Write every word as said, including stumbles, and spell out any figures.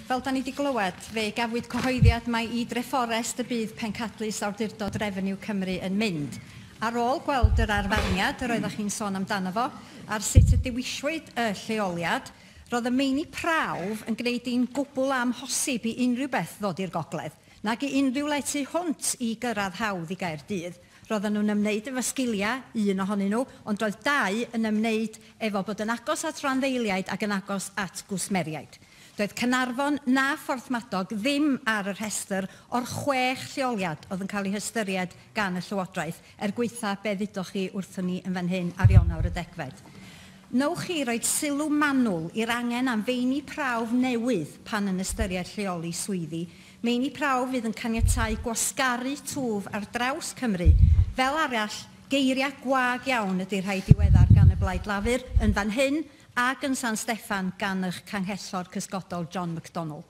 Fel da ni wedi glywed, fe gafwyd cyhoeddiad mai i Drefforest y bydd pencadlys Awdurdod Refeniw Cymru yn mynd. Ar ôl gweld yr arfarniad yr oeddech chi'n sôn amdano fo, ar sut y dewiswyd y lleoliad, roedd y meini prawf yn gwneud hi'n gwbl amhosib i unrhyw beth ddod i'r gogledd, nag i unrhyw le tu hwnt i gyrraedd hawdd i Gaerdydd. Roedden nhw'n ymwneud efo sgiliau, un ohonyn nhw, ond roedd dau yn ymwneud efo bod yn agos at randdeiliaid ac yn agos at gwsmeriaid. Doedd Caernarfon na Phorthmadog ddim ar y rhestr o'r chwech lleoliad oedd yn cael eu hystyried gan y Llywodraeth, er gwaetha be ddudoch chi wrthon ni yn fan hyn ar Ionawr y degfed. Nowch chi roed sylw manwl i'r angen am feini prawf newydd pan yn ystyried lleoli swyddi, meini prawf fydd yn caniatáu gwasgaru twf ar draws Cymru. Fel arall, geiriau gwag iawn ydy'r rhai diweddar gan y Blaid Lafur yn fan hyn ac yn San Steffan gan eich canghellor cysgodol John McDonnell.